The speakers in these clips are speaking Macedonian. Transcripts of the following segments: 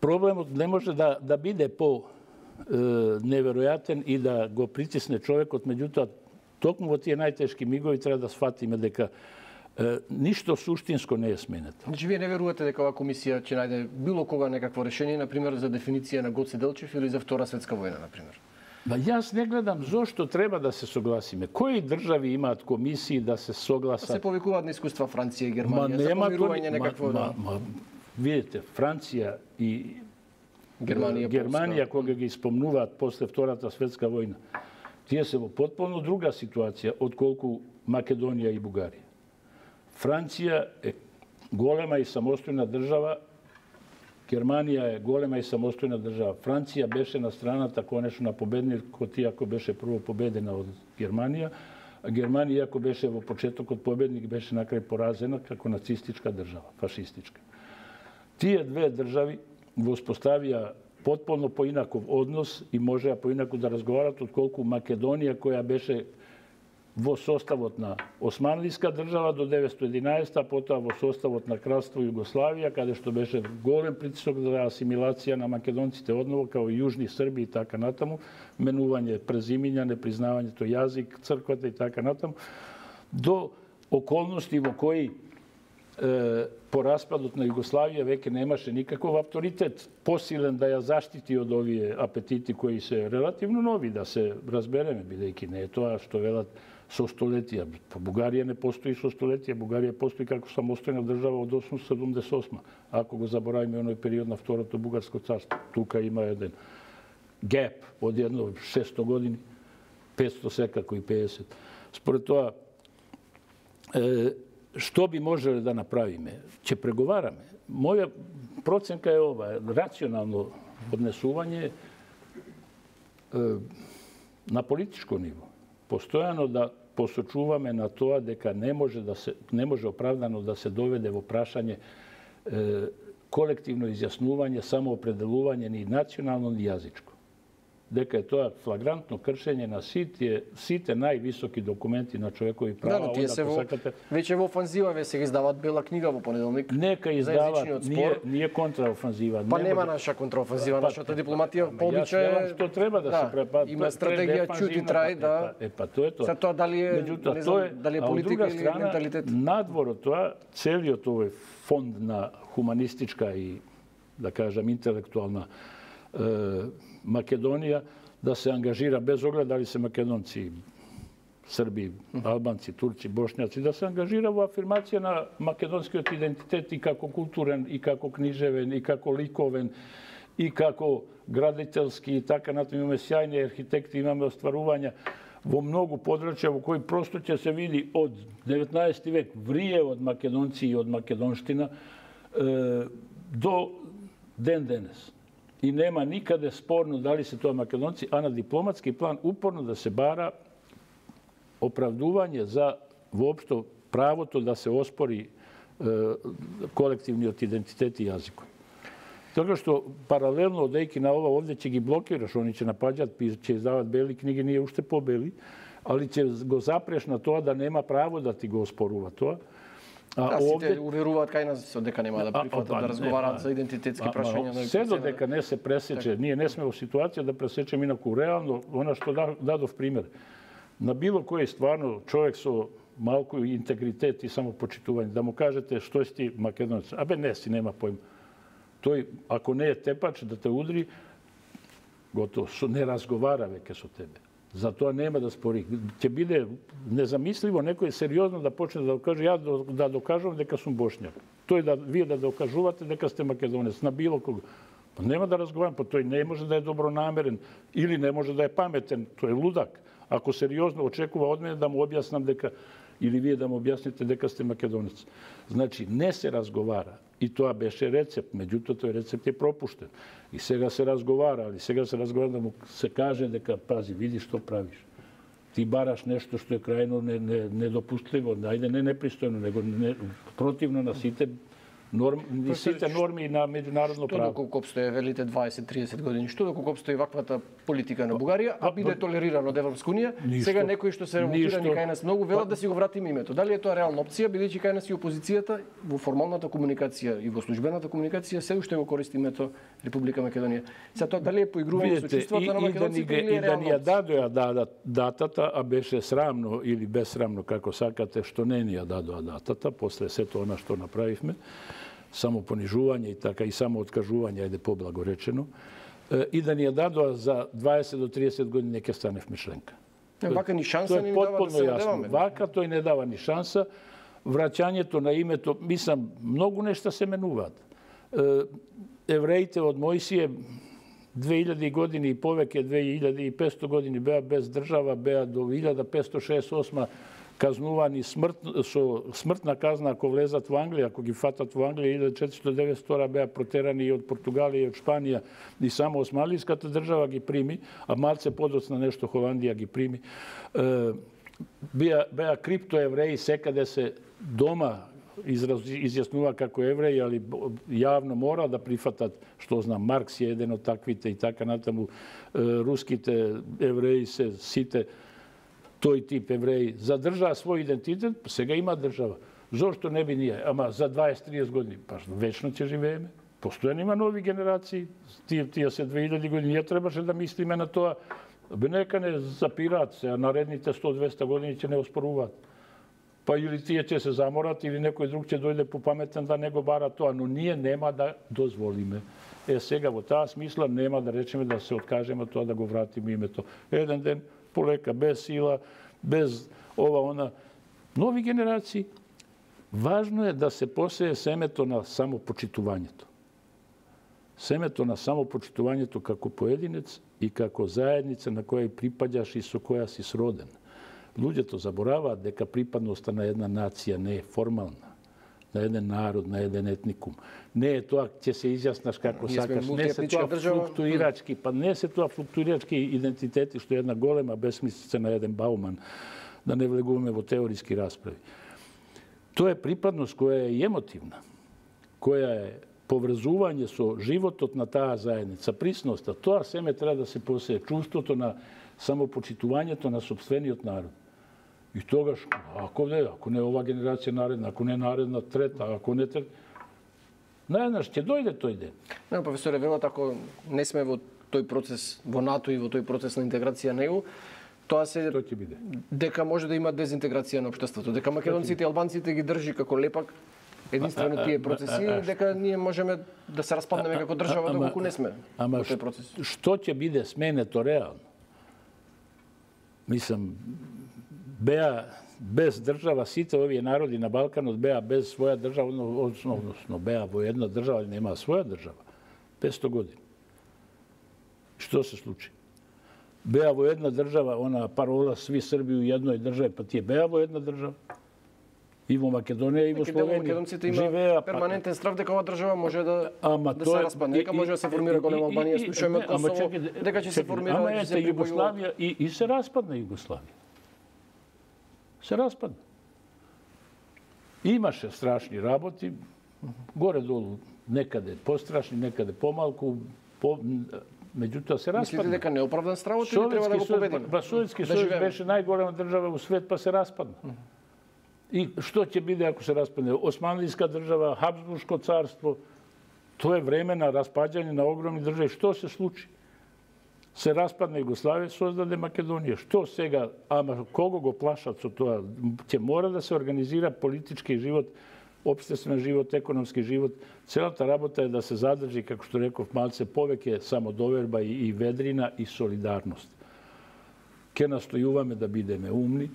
проблемот не може да биде по неверојатен и да го притисне човекот, меѓутоа токму во тие најтешки мигови треба да сфатиме дека ништо суштинско не е сменето. Значи, вие не верувате дека оваа комисија ќе најде било кога некакво решение, например, за дефиниција на Гоце Делчев или за Втора светска војна, например? Јас не гледам зошто треба да се согласиме. Кои држави имаат комисии да се согласат? Се повикуваат на искуства Франција и Германија за помирување некакво... Видите, Франција и Германија кога ги спомнуваат после Втората светска војна, тие се во потполно друга ситуација отколку Македонија и Бугарија. Франција е голема и самостојна држава, Германија е голема и самостојна држава. Франција беше на страната конечно на победникот, иако беше прво победена од Германија, а Германија, иако беше во почетокот победник, беше на крај поразена како нацистичка држава, фашистичка. Тие две држави го успоставија потполно поинаков однос и можеа поинако да разговарат отколку Македонија, која беше во составот на Османлиска држава до 1911, а потоа во составот на Кралство Југославија, каде што беше голем притисок за асимилација на македонците одново, као и јужни Срби и така натаму, менување презимиња, непризнавањето јазик, црквата и така натаму, до околности во кои по распадот на Југославија веќе немаше никаков авторитет посилен да ја заштити од овие апетити кои се релативно нови, да се разбереме, бидејќи не е тоа што велат со столетија. По Бугарија не постои со столетија, Бугарија постои како самостојна држава од 878, ако го заборавиме оној период на Второто бугарско царство. Тука има еден геп од едно 600 години, 500 секако и 50. Според тоа, што би можеле да направиме? Ќе преговараме. Моја проценка е ова, рационално однесување на политичко ниво. Постојано да посочуваме на тоа дека не може оправдано да се доведе во прашање колективно изјаснување, самоопределување ни национално ни јазичко. Дека е тоа флагрантно кршење на сите највисоки документи на човекови права. Да, тие се веќе во офанзива, ве се издаваат бела книга во понеделник. Нека издават, ние контраофанзива. Па нема наша контраофанзива, нашата дипломатија по обичај е... Што треба да се препат? Има стратегија чути трај, да. Тоа е тоа. Се тоа дали е политика или менталитет? Надвор од тоа, целиот овој фонд на хуманистичка и, да кажам, интелектуална Македонија да се ангажира без оглед дали се македонци, срби, албанци, турци, бошњаци, да се ангажира во афирмација на македонскиот идентитет и како културен, и како книжевен, и како ликовен, и како градителски, и така натаму. Имаме сјајни архитекти, имаме остварувања во многу подрачја во кои просто ќе се види од 19 век врие од македонци и од македонштина до ден денес. И нема никаде спорно дали се тоа македонци, а на дипломатски план упорно да се бара оправдување за воопшто правото да се оспори колективниот идентитет и јазикот. Така што паралелно одејќи на ова овде ќе ги блокираш, они ќе напаѓаат, ќе издават бели книги, ние уште побели, али ќе го запреш на тоа да нема право да ти го оспорува тоа. Сите уверуваат кај нас дека нема да прифатат да разговараат за идентитетски прашања. Се додека не се пресече, ние не сме во ситуација да пресечеме инаку реално, она што дадов пример. На било кој стварно човек со малку интегритет и самопочитување, да му кажете што си ти македонец, абе не си, нема поим. Тој, ако не е тепач да те удри, готово, не разговара веќе со тебе. Затоа нема да спори. Ќе биде незамисливо некој сериозно да почне да каже ја да докажувам дека сум бошњак. Тој вие да докажувате дека сте македонец на било кого. Па нема да разговарам, па тој не може да е добронамерен или не може да е паметен, тој е лудак. Ако сериозно очекува од мене да му објаснам дека или вие да му објасните дека сте македонец. Значи не се разговара. И тоа беше рецепт, меѓутоа тој рецепт е пропуштен. И сега се разговара, али сега се разговара да му се каже дека пази, види што правиш. Ти бараш нешто што е крајно недопустливо, ајде не непристојно, него противно на сите сите норми на меѓународно право. Што доколку обстои, велите 20-30 години, што доколку обстои ваквата политика на Бугарија, а биде толерирано од Европска унија, сега некои што се револтирани кај нас многу велат да си го вратиме името. Дали е тоа реална опција, бидејќи кај нас и опозицијата во формалната комуникација и во службената комуникација се уште го користи името Република Македонија. Сега тоа дали е поигрување со чувствата на македонците или е реална опција? И да ни ја дадоа датата, а беше срамно или безсрамно, како сакате, што не ни ја дадоа датата, после сето она што направивме, само понижување и така и само откажување, ајде поблаго речено, и да ни ја дадоа за 20 до 30 години ќе станевме членка. Вака ни шанса не дава да се надеваме. Вака тој не дава ни шанса. Враќањето на името, мислам, многу нешта се менуваат. Евреите од Мојсија 2000 години и повеќе, 2500 години беа без држава, беа до 1568 казнувани со смртна казна ако влезат во Англија, ако ги фатат во Англија, 1492 беа протерани и од Португалија и од Шпанија, и само османлиската држава ги прими, а малце подоцна нешто Холандија ги прими. Беа криптоевреи, секаде се дома изјаснува како евреи, али јавно мора да прифатат, што знам, Маркс е еден од таквите и така натаму, руските евреи се сите тој тип евреи задржаа свој идентитет, сега има држава. Зошто не би ние? Ама за 20-30 години, па вечно ќе живееме. Постојано има нови генерации, тие се 2000 години, ние требаше да мислиме на тоа. Бе нека не запираат се, а наредните 100-200 години ќе не оспоруваат. Па или тие ќе се заморат, или некој друг ќе дојде попаметен да не го бара тоа, но ние нема да дозволиме. Сега во таа смисла нема да речеме да се откажеме тоа да го вратиме името. Еден ден полека, без сила, без ова, она. Нови генерации. Важно е да се посее семето на самопочитувањето. Семето на самопочитувањето како поединец и како заедница на која припаѓаш и со која си сроден. Луѓето забораваат дека припадноста на една нација не е формална, на еден народ, на еден етникум. Не е тоа ќе се изјаснаш како сакаш, не се тоа флуктуирачки, па не се тоа флуктуирачки идентитети што е една голема бесмислица на еден Бауман, да не влегуваме во теориски расправи. Тоа е припадност која е емотивна, која е поврзување со животот на таа заедница, присноста. Тоа семе треба да се посее, чувството на самопочитувањето на сопствениот народ. И тогаш, ако не ова генерација наредна, ако не наредна трета, ако не трета, наеднаш ќе дојде тој ден. Не, професоре, велат, ако не сме во тој процес во НАТО и во тој процес на интеграција на ЕУ, тоа ќе биде. Дека може да има дезинтеграција на општеството, дека македонците и албанците ги држи како лепак единствено тие процеси, дека ние можеме да се распаднеме како држава доколку не сме во тој процес. Што ќе биде сменето реално? Мислам, беа без држава, сите овие народи на Балканот беа без своја држава, односно беа во една држава, или немаа своја држава, 500 години. Што се случи? Беа во една држава, она парола сви Срби у едној држави, па тие беа во една држава. И во Македонија, и во Словенија. Македонците има перманентен страв дека оваа држава може да се распадне, дека може да се формира голема Албанија, слушаме од Косово, дека ќе се формира, ќе се Југославија и се распадна Југославија. Се распадна. Имаше страшни работи, горе-долу некаде пострашни, некаде помалку, меѓутоа се распадна. Мислите дека неоправдан стравот или треба да го победиме? Советски сојуз беше најголема држава во свет, па се распадна. И што ќе биде ако се распадне? Османлиска држава, Хабсбуршко царство, тоа е време на распаѓање на огромни држави. Што се случи? Се распадна Југославија, создаде Македонија. Што сега? Ама кого го плашат со тоа? Ќе мора да се организира политички живот, општествен живот, економски живот. Целата работа е да се задржи, како што реков, малце повеќе самодоверба и ведрина и солидарност. Ке настојуваме да бидеме умни,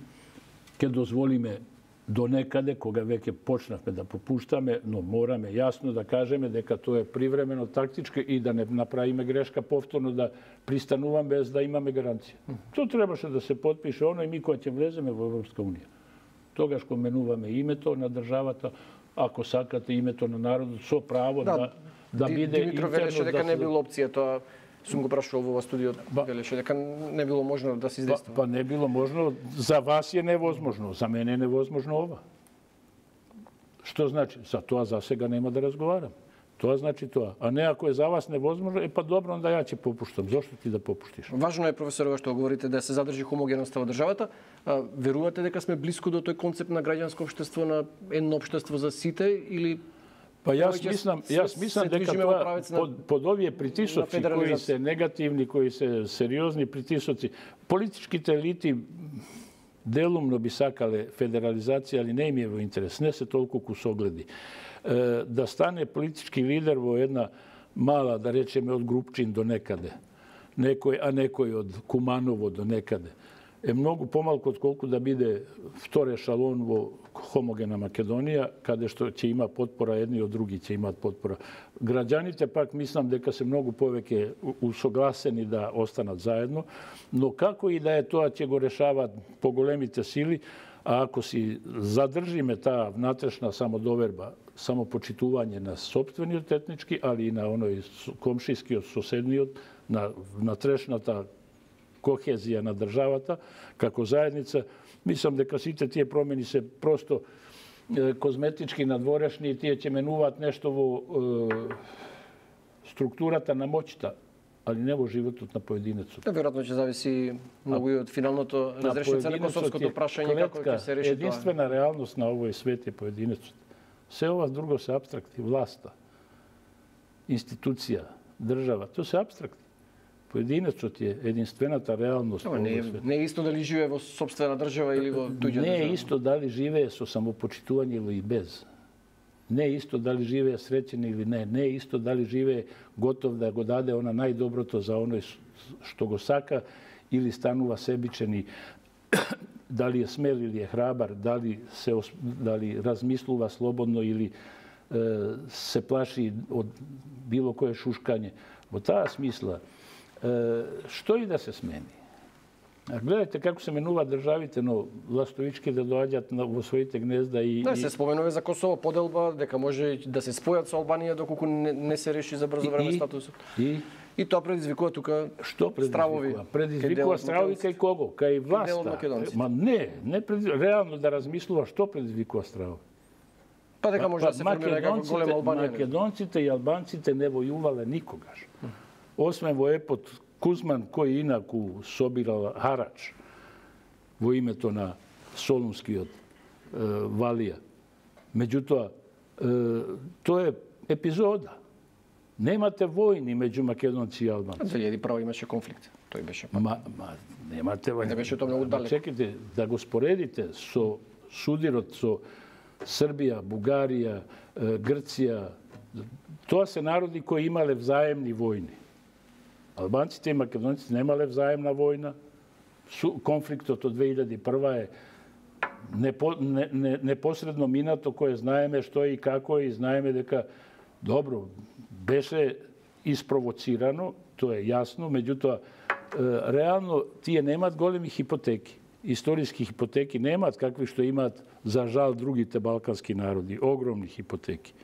ке дозволиме до некаде, кога веќе почнавме да попуштаме, но мораме јасно да кажеме дека тоа е привремено, тактичко и да не направиме грешка повторно да пристануваме без да имаме гаранција. Тоа требаше да се потпише оно и ми кога ќе влеземе во Европска унија. Тогаш кога менуваме името на државата, ако сакате името на народот, со право да биде Димитро велеше дека не било опција тоа. Сум го прашувал во студиот, велеше дека не било можно да се издейства. Па не било можно, за вас е невозможно, за мене е невозможно ова. Што значи? За тоа за сега нема да разговарам. Тоа значи тоа. А не ако е за вас невозможно, па добро, онда ја ќе попуштам. Зошто ти да попуштиш? Важно е, професор, што говорите, да се задржи хомогеноста во државата. Верувате дека сме блиску до тој концепт на граѓанско општество, на едно општество за сите, или па јас мислам дека тоа под овие притисоци кои се негативни, кои се сериозни притисоци, политичките елити делумно би сакале федерализација, али не им е во интерес, не се толку кусогледи. Да стане политички лидер во една мала, да речеме, од Групчин до некаде, а некој од Куманово до некаде, е многу помалку од колку да биде втор ешалон во хомогена Македонија, каде што ќе има потпора, едни од други ќе имаат потпора. Граѓаните пак мислам дека се многу повеќе усогласени да останат заедно, но како и да е тоа ќе го решаваат поголемите сили, а ако си задржиме таа внатрешна самодоверба, самопочитување на сопствениот етнички, али и на оној комшискиот, соседниот, на внатрешната кохезија на државата, како заедница, мислам дека сите тие промени се просто козметички, надворешни и тие ќе менуваат нешто во структурата на моќта, али не во животот на поединецот. Веројатно ќе зависи многу и од финалното разрешница на косовското прашање, како ќе се реши тоа. Единствена реалност на овој свет е поединецот. Се ова друго се апстракти, власта, институција, држава, тоа се апстракти. Поединецот е единствената реалност. Не е исто дали живее во сопствена држава или во туѓа држава. Не е исто дали живее со самопочитување или без. Не е исто дали живее среќен или не. Не е исто дали живее готов да го даде она најдоброто за оној што го сака или станува себичен и дали е смел или е храбар, дали размислува слободно или се плаши од било кое шушкање. Во таа смисла, што и да се смени. Гледате како се менуваат државите, но властовички да доаѓаат во своите гнезда и... Да, се споменува за Косово поделба, дека може да се спојат со Албанија доколку не се реши за брзо време статусот. И тоа предизвикува тука стравови. Предизвикува стравови кај кого? Кај власта. Ма не реално да размислува што предизвикува стравови. Па дека може да се формира како голема Албанија. Македонците и албанците не војувале никогаш. Освен во епот Кузман, кој инаку собирал харач во името на Солунскиот валија. Меѓутоа, тоа е епизода. Немате војни меѓу македонци и албанци. 2001 имаше конфликт. Тој беше немате војни. Не беше тоа многу далеко. Чекайте, да го споредите со судирот со Србија, Бугарија, Грција. Тоа се народи кои имале взаемни војни. Албанците и македонците немале взаемна војна. Конфликтот од 2001 е непосредно минато, кое знаеме што и како и знаеме дека добро беше испровоцирано, тоа е јасно, меѓутоа реално тие немаат големи хипотеки. Историски хипотеки немаат какви што имаат за жал другите балкански народи, огромни хипотеки.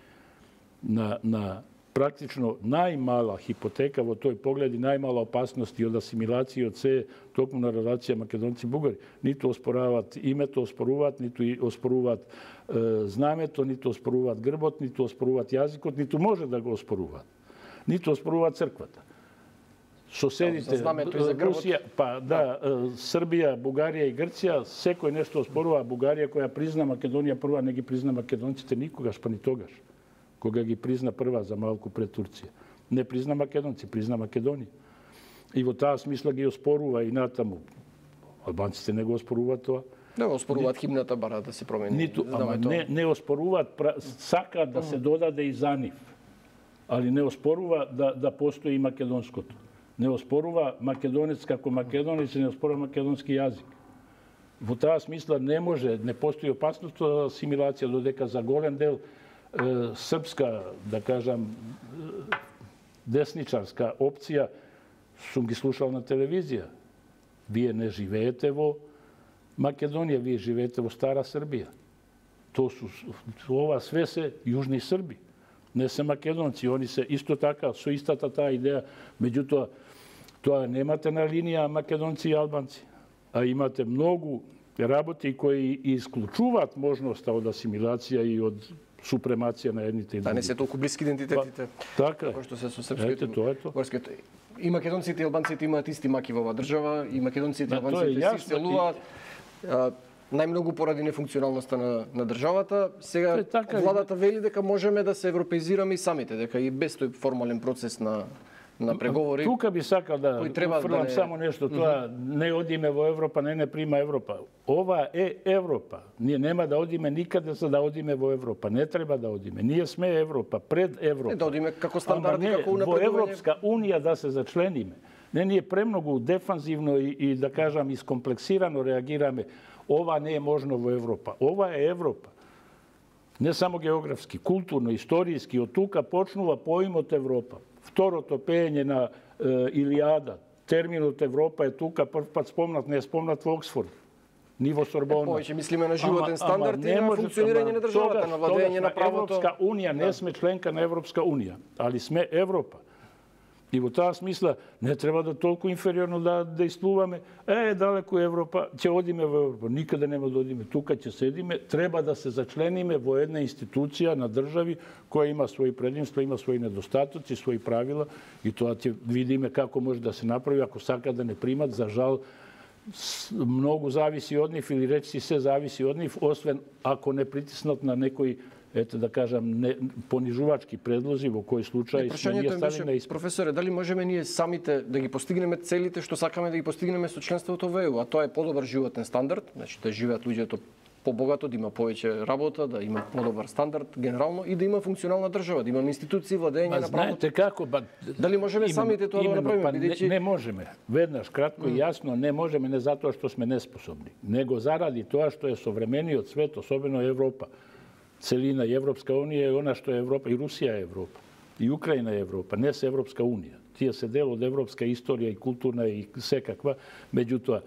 На практично најмала хипотека во тој поглед и најмала опасност и од асимилација од се токму на релација македонци-бугари. Ниту оспораваат името, оспоруваат, ниту оспоруваат знамето, ниту оспоруваат грбот, ниту оспоруваат јазикот, ниту може да го оспоруваат. Ниту оспоруваат црквата. Соседите, Русија, Србија, Бугарија и Грција, секој нешто оспорува. Бугарија која призна Македонија прва, не ги призна македонците никогаш, па ни тогаш. Кога ги призна прва за малку пред Турција. Не призна македонци, призна Македонија. И во таа смисла ги оспорува и натаму. Албанците не го оспоруваат тоа. Не го оспоруваат химната, бара да се промени. Не оспоруваат, сакаат да се додаде и за нив. Али не оспорува да постои и македонското. Не оспорува македонец како македонец, не оспорува македонски јазик. Во таа смисла не може, не постои опасност за асимилација, додека за голем дел српска, да кажам, десничарска опција, сум ги слушал на телевизија. Вие не живеете во Македонија, вие живеете во Стара Србија. Ова све се јужни Срби. Не се македонци, они се исто така, со истата таа идеја. Меѓутоа, тоа немате на линија македонци и албанци, а имате многу работи кои исклучуваат можноста од асимилација и од супремација на едните и другите. Да не се толку блиски идентитетите. Така како што се со српското. Тоа е тоа. Горското. И македонците и албанците имаат исти маки во оваа држава, и македонците и албанците се иселуваат. Најмногу поради нефункционалноста на државата. Сега владата вели дека можеме да се европеизираме и самите, дека и без тој формален процес на преговори. Тука би сакал да фрлам само нешто, тоа не одиме во Европа, не прима Европа. Ова е Европа. Ние нема да одиме никаде за да одиме во Европа. Не треба да одиме. Ние сме Европа, пред Европа. Не да одиме како стандарди, како унапредување. Во Европска унија да се зачлениме. Не, ние премногу дефанзивно и да кажам искомплексирано реагираме. Ова не е можно во Европа. Ова е Европа. Не само географски, културно, историјски. Од тука почнува поимот Европа. Второто пеење на Илијада. Терминот Европа е тука прв пат спомнат, не е спомнат во Оксфорд. Ни во Сорбона. Повеќе мислиме на животен стандард и на функционирање на државата, на владење на правото. Европска унија, не сме членка на Европска унија, али сме Европа. И во таа смисла не треба да толку инфериорно да действуваме. Далеку Европа, ќе одиме во Европа. Никаде нема да одиме. Тука ќе седиме. Треба да се зачлениме во една институција на држави која има своји предимства, има своји недостатоци, своји правила. И тоа ќе видиме како може да се направи ако сака да не примат. За жал, многу зависи од нив или речи се зависи од нив, освен ако не притиснат на некој да кажам, понижувачки предлози, во кој случај сме ние стали на испит. Професоре, дали можеме ние самите да ги постигнеме целите што сакаме да ги постигнеме со членството во ЕУ, а тоа е подобар животен стандард, значи да живеат луѓето побогато, да има повеќе работа, да има подобар стандард генерално и да има функционална држава, да имаме институции, владење на правото. Знаете како, дали можеме самите тоа да направиме, бидејќи не можеме. Веднаш кратко и јасно, не можеме не затоа што сме неспособни, него заради тоа што е современиот свет, особено Европа. Целина и Европска унија е она што е Европа, и Русија е Европа, и Украина е Европа, не се Европска унија. Тие се дел од европска историја и културна и секаква, меѓутоа,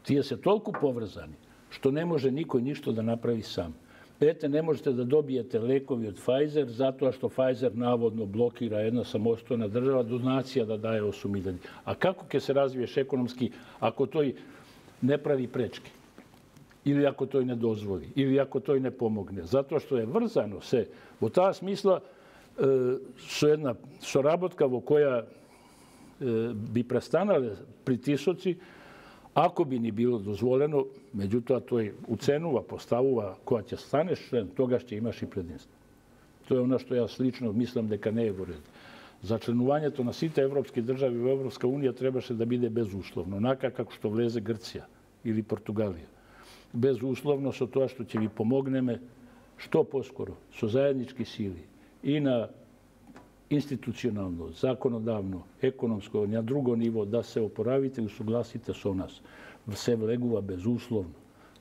тие се толку поврзани, што не може никој ништо да направи сам. Ете, не можете да добиете лекови од Pfizer, затоа што Pfizer наводно блокира една самостојна држава, донација да дае 8.000. А како ќе се развиеш економски ако тој не прави пречки? Или ако тој не дозволи, или ако тој не помогне. Затоа што е врзано се. Во таа смисла, со една соработка во која би престанале притисоци, ако би ни било дозволено, меѓутоа тој уценува, поставува, кога ќе станеш член, тогаш ќе имаш и предимство. Тоа е она што јас лично мислам дека не е во ред. За членувањето на сите европски држави во Европска унија требаше да биде безусловно, онака како што влезе Грција или Португалија. Безусловно со тоа што ќе ви помогнеме што поскоро, со заеднички сили и на институционално, законодавно, економско, на друго ниво да се опоравите и усогласите со нас. Се влегува безусловно.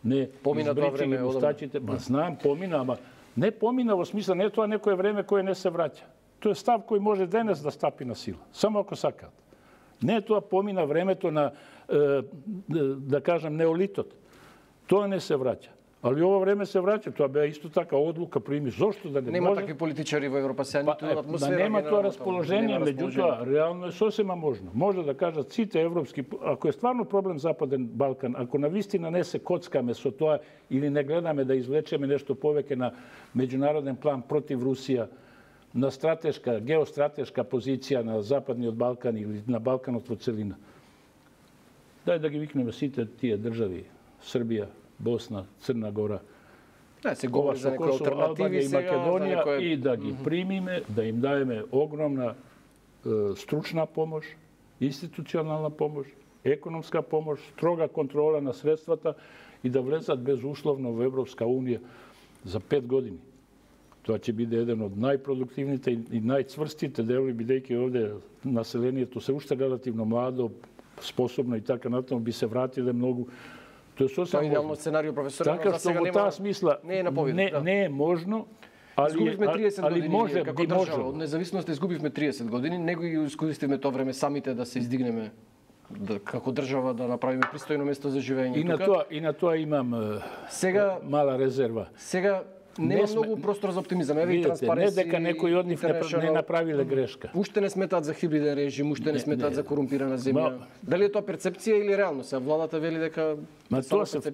Не избричи ги мустачите, знам, помина, ама не помина во смисла, не е тоа некое време кое не се враќа. Тоа е став кој може денес да стапи на сила, само ако сакаат. Не е тоа помина времето на, да кажем, неолитот. Тоа не се враќа. Али ова време се враќа. Тоа беа исто така одлука прими. Зошто да не може? Нема такви политичари во Европа сега, ниту атмосфера. Нема тоа расположение, меѓутоа реално е сосема можно. Може да кажат сите европски, ако е стварно проблем Западен Балкан, ако навистина не се коцкаме со тоа или не гледаме да извлечеме нешто повеќе на меѓународен план против Русија, на стратешка, геостратешка позиција на Западниот Балкан или на Балканот во целина. Дај да ги викнеме сите тие држави, Србија, Босна, Црна Гора, да, се говори за некои алтернативи и Македонија и да ги примиме, да им даеме огромна стручна помош, институционална помош, економска помош, строга контрола на средствата и да влезат безусловно во Европска унија за 5 години. Тоа ќе биде еден од најпродуктивните и најцврстите делови, бидејќи овде населението се уште релативно младо, способно и така натаму, би се вратиле многу. Тоа е сосема идеално сценарио, професор, така што во таа смисла не е можно, изгубивме 30 години може како држава. Од независноста изгубивме 30 години, него ги искористивме тоа време самите да се издигнеме како држава, да направиме пристојно место за живење тука. И на тоа имам мала резерва. Сега нема многу простор за оптимизам. Еве и Транспаренси. Не дека некои од нив не направиле грешка. Уште не сметаат за хибриден режим, уште не сметаат за корумпирана земја. Дали е тоа перцепција или реално? Сега владата вели дека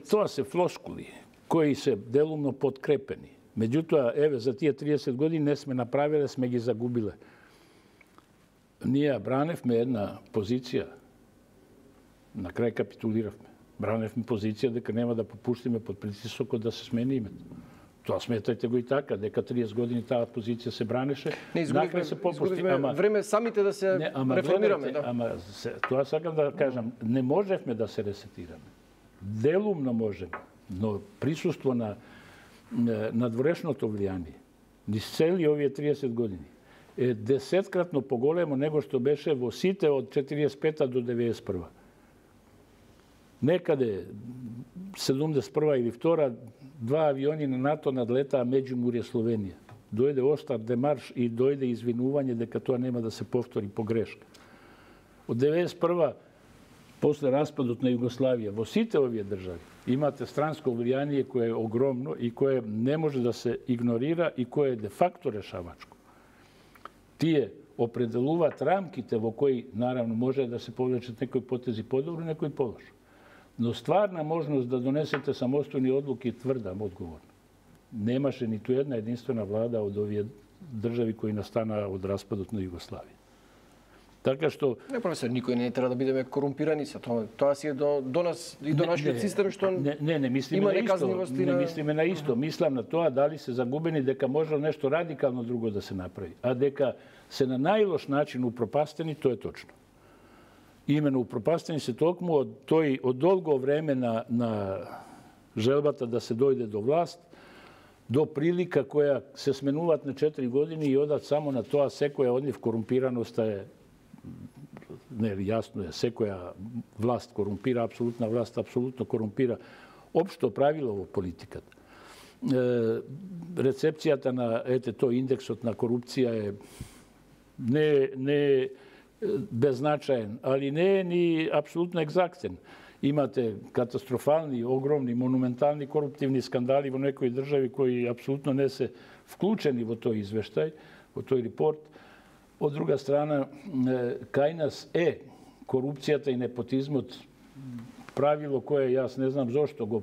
тоа се флоскули кои се делумно подкрепени. Меѓутоа, еве, за тие 30 години не сме направиле, сме ги загубиле. Ние браневме една позиција, на крај капитулиравме. Браневме позиција дека нема да попуштиме под притисокот да се смени името. Тоа сметајте го и така, дека 30 години таа позиција се бранеше. Не изгубивме време самите да се реформираме. Ама тоа сакам да кажам, не можевме да се ресетираме. Делумно можеме, но присуство на надворешното влијание, низ цели овие 30 години, е 10-кратно поголемо него што беше во сите од 45 до 91. Некаде 71 или 2 два авиони на НАТО надлетаа Меѓумурје Словенија. Дојде остар демарш и дојде извинување дека тоа нема да се повтори погрешка. Од 91 после распадот на Југославија, во сите овие држави имате странско влијание кое е огромно и кое не може да се игнорира и кое е де факто решавачко. Тие определуваат рамките во кои, наравно, може да се повлечат некои потези подобро, некои полошо. Но стварна можност да донесете самостојни одлуки тврдам одговорно. Немаше ниту една единствена влада од овие држави кои настанаа од распадот на Југославија. Така што не, професор, никој не треба да бидеме корумпирани со тоа. Тоа си е до нас и до нашиот систем што не мислиме на исто. Не мислиме на исто. Мислам на тоа дали се загубени дека може нешто радикално друго да се направи, а дека се на најлош начин упропастени, тоа е точно. Имено упропастени се токму од долго време на желбата да се дојде до власт, до прилика која се сменуваат на 4 години и одат само на тоа секоја од нив корумпираноста е не, јасно е, секоја власт корумпира, апсолутна власт апсолутно корумпира. Општо правило во политиката. Рецепцијата на тој индексот на корупција е не беззначаен, али не е ни апсолутно екзактен. Имате катастрофални, огромни, монументални коруптивни скандали во некои држави кои апсолутно не се вклучени во тој извештај, во тој репорт. Од друга страна, кај нас е корупцијата и непотизмот правило кое јас не знам зошто го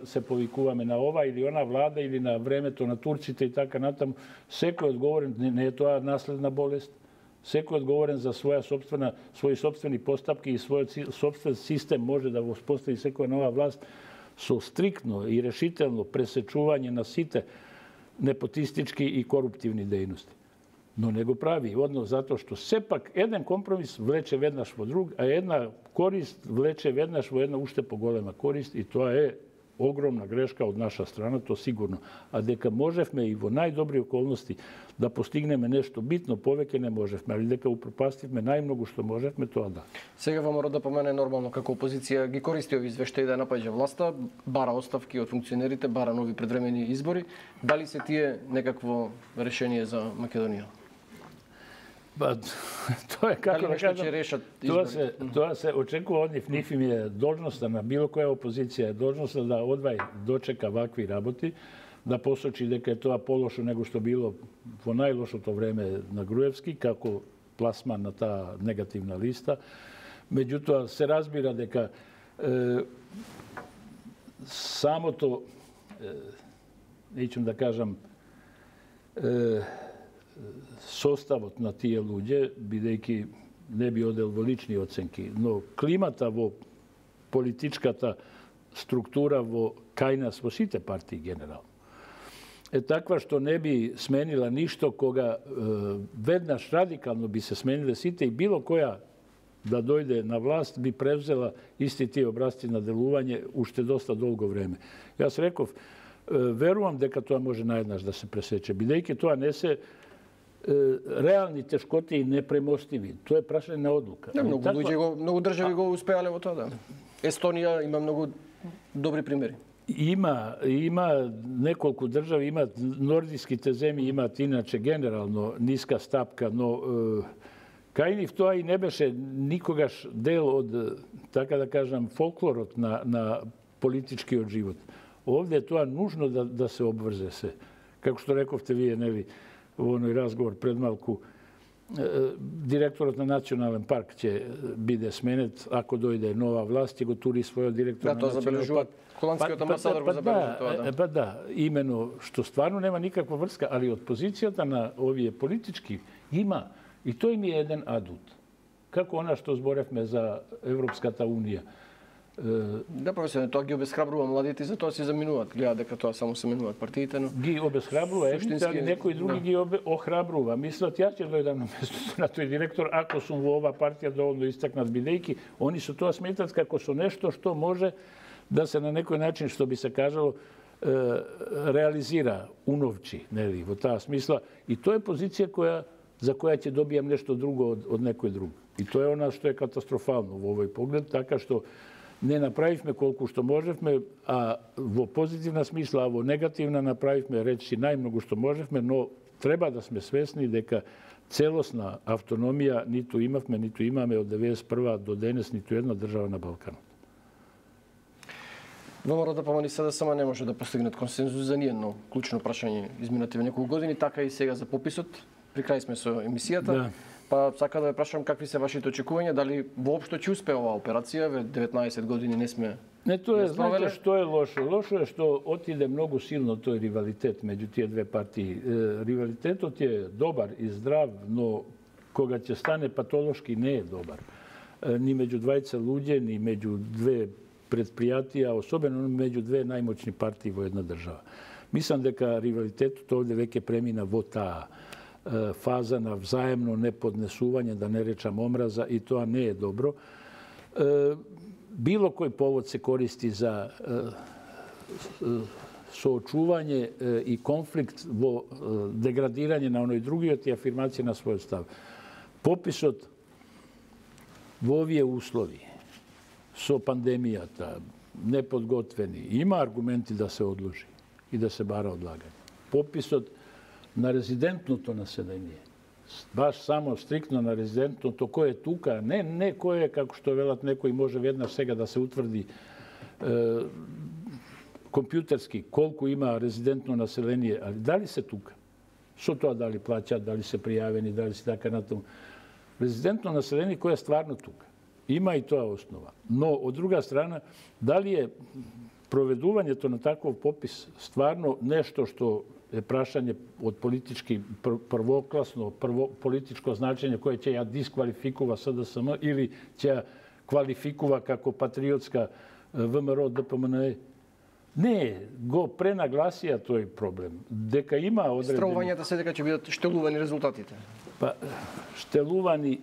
се повикуваме на ова или она влада или на времето на турците и така натаму. Секој одговорен, не е тоа наследна болест, секој одговорен за своји собствени постапки и својот собствен систем може да воспостави секоја нова власт со стриктно и решително пресечување на сите непотистички и коруптивни дејности. Но не го прави, одно затоа што сепак еден компромис влече веднаш во друг, а една корист влече веднаш во една уште поголема корист и тоа е огромна грешка од наша страна, то сигурно. А дека можевме и во најдобри околности да постигнеме нешто битно, повеќе не можевме, али дека упропастивме најмногу што можевме, тоа да. Сега ВМРО да помене нормално како опозиција ги користи ови извештаи да напаѓа власта, бара оставки од функционерите, бара нови предвремени избори. Дали се тие некакво решение за Македонија? Тоа е како да кажам, тоа се очекува од нив. Нив им е должноста на било која опозиција, должноста да одвај дочека вакви работи, да посочи дека е тоа полошо него што било во најлошото време на Груевски, како пласман на таа негативна листа. Меѓутоа, се разбира дека самото, неќам да кажам, составот на тие луѓе, бидејќи не би одел во лични оценки, но климата во политичката структура кај нас во сите партии генерално е таква што не би сменила ништо кога веднаш радикално би се смениле сите и било која да дојде на власт би превзела исти тие образци на делување уште доста долго време. Јас реков, верувам дека тоа може наеднаш да се пресече, бидејќи тоа не се реални тешкоти и непремостиви. Тоа е прашање на одлука. Многу држави го успеале во тоа, да. Естонија има многу добри примери. Има неколку држави, имаат нордиските земји, имаат иначе генерално ниска стапка, но кај нив тоа и не беше никогаш дел од, така да кажам, фолклорот на политичкиот живот. Овде е тоа нужно да се обврзе се. Како што рековте вие, нели, во оној разговор пред малку, директорот на Национален парк ќе биде сменет, ако дојде нова власт, ќе го тури својот директор на Национален парк. Холандскиот амбасадор го забележи тоа, да. Да, имено што стварно нема никаква врска, али од позицијата на овие политички има, и тој ми е еден адут. Како она што зборевме за Европската унија. Да, професор, тоа ги обесхрабрува младите и затоа се заминуваат. Гледаат дека тоа само се менуваат партиите, но ги обесхрабрува, али некои други ги охрабрува. Мислат, јас ќе дојдам на местото на тој директор ако сум во ова партија доволно истакнат, бидејќи они со тоа сметат како со нешто што може да се на некој начин, што би се кажало, реализира, уновчи, нели, во таа смисла. И тоа е позиција за која ќе добијам нешто друго од некој друг. И тоа е она што е катастрофално во овој поглед, така што не направивме колку што можевме, а во позитивна смисла, а во негативна направивме речи најмногу што можевме, но треба да сме свесни дека целосна автономија ниту имавме, ниту имаме од 91 до денес ниту една држава на Балканот. ВМРО ДПМН и СДСМ не може да постигнат консензус за ниедно клучно прашање изминативе неколку години, така и сега за пописот. При крај сме со емисијата. Да. Па сака да ве прашам какви се вашите очекувања, дали воопшто ќе успее оваа операција, ве 19 години не сме. Не, тоа е, знаете што е лошо? Лошо е што отиде многу силно тој ривалитет меѓу тие две партии. Ривалитетот е добар и здрав, но кога ќе стане патолошки не е добар. Ни меѓу двајца луѓе, ни меѓу две предпријатија, особено меѓу две најмоćни партии во една држава. Мислам дека ривалитетот овде веќе премина во таа фаза на взаемно неподнесување, да не речам омраза, и тоа не е добро. Било кој повод се користи за соочување и конфликт во деградирање на оној другиот и афирмација на својот став. Пописот во овие услови, со пандемијата, неподготвени, има аргументи да се одложи и да се бара одлагање. Пописот на резидентното население, баш само стриктно на резидентното, кој е тука, не кој е, како што велат некој, може веднаш сега да се утврди компјутерски колку има резидентно население, али дали се тука? Со тоа дали плаќаат, дали се пријавени, дали се така натаму. Резидентно население кој е стварно тука. Има и тоа основа. Но, од друга страна, дали е проведувањето на таков попис стварно нешто што е прашање од политички првокласно, политичко значење кое ќе ја дисквалификува СДСМ или ќе ја квалификува како патриотска ВМРО ДПМН? Не, го пренагласија тој проблем. Дека има одредени... Стравувањата се дека ќе бидат штелувани резултатите. Па, штелувани,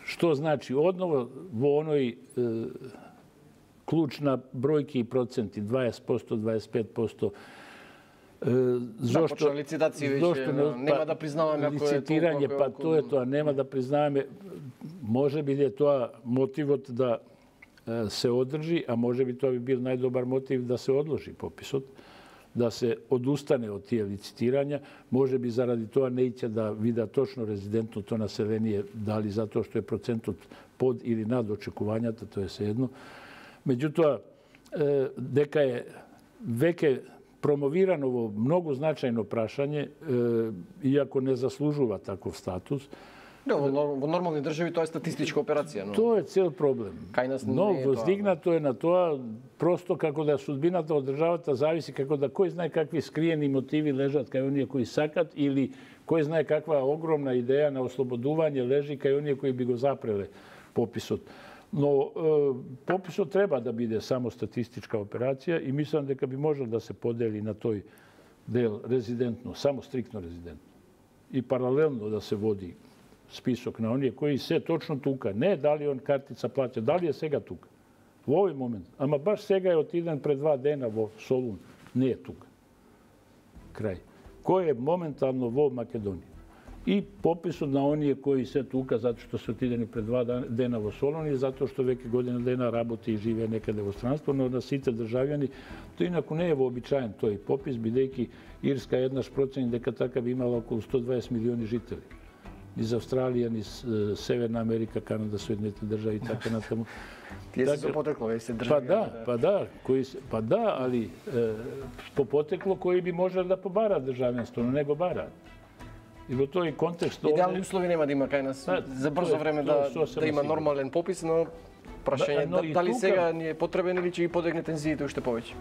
што значи? Одново во оној клуч на бројки и проценти, 20%, 25%, зошто лицитација веќе нема да признаваме ако е лицитирање, па тоа е тоа, нема да признаваме. Може би е тоа мотивот да се одржи, а може би тоа би бил најдобар мотив да се одложи пописот, да се одустане од тие лицитирања. Може би заради тоа не ќе да видат точно резидентното население, дали затоа што е процентот под или над очекувањата, тоа е sejedno. Меѓутоа, дека е веќе промовирано во многу значајно прашање, иако не заслужува таков статус. Да, во нормални држави тоа е статистичка операција. Тоа е цел проблем. Но воздигнато е на тоа, просто како да судбината од државата зависи, како да кој знае какви скриени мотиви лежат кај оние кои сакат, или кој знае каква огромна идеја на ослободување лежи кај оние кои би го запреле пописот. Но пописот треба да биде само статистичка операција и мислам дека би можел да се подели на тој дел резидентно, само стриктно резидентно. И паралелно да се води список на оние кои се точно тука. Не дали он картица плаќа, дали е сега тука. Во овој момент. Ама баш сега е отиден пред 2 дена во Солун. Не е тука. Крај. Кој е моментално во Македонија. И пописот на оние кои се тука затоа што се отидени пред 2 дена во Солун и затоа што веќе година дена работи и живее некаде во странство, но на сите државјани тој инаку не е вообичаен тој попис, бидејќи Ирска еднаш процени дека така би имала околу 120 милиони жители. Низ Австралија, низ Северна Америка, Канада, Соединените држави и така натаму. Тие се потекло, се држави. Па да, али по потекло кои би можеле да побараат државенство, но не го бараат. И во тој контекст... Идеални услови нема да има кај нас за брзо време да има нормален попис, но Прашање дали сега ни е потребен или ќе ги подигне тензиите уште повеќе?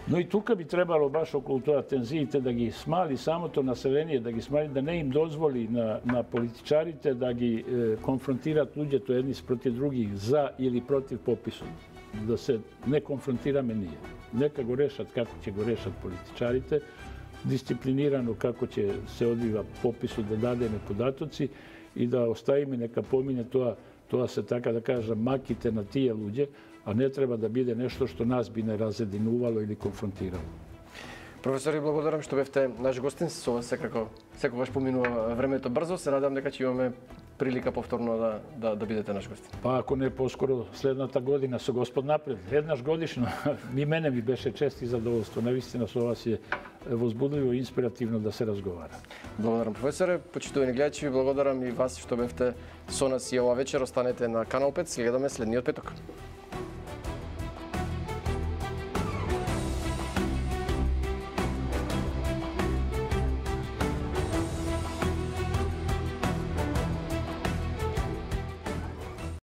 Но и тука би требало баш околу тоа тензиите да ги смали самото население, да ги смали, да не им дозволи на политичарите да ги конфронтираат луѓето едни спротив други за или против пописот. Да се не конфронтираме ние. Нека го решат како ќе го решат политичарите, дисциплинирано како ќе се одвива пописот, да дадеме податоци и да оставиме нека помине тоа се така да кажам маките на тие луѓе, а не треба да биде нешто што нас би не разединувало или конфронтирало. Професор, ви благодарам што бевте наш гостин. Со вас секогаш поминува времето брзо. Се надам дека ќе имаме прилика повторно да бидете наш гостин. Па ако не поскоро следната година со Господ напред. Еднаш годишно. И мене ми беше чест и задоволство. Навистина со вас е возбудливо и инспиративно да се разговара. Благодарам, професоре. Почитувани гледачи, ви благодарам и вас што бевте со нас и ова вечер. Останете на Канал 5. Гледаме следниот петок.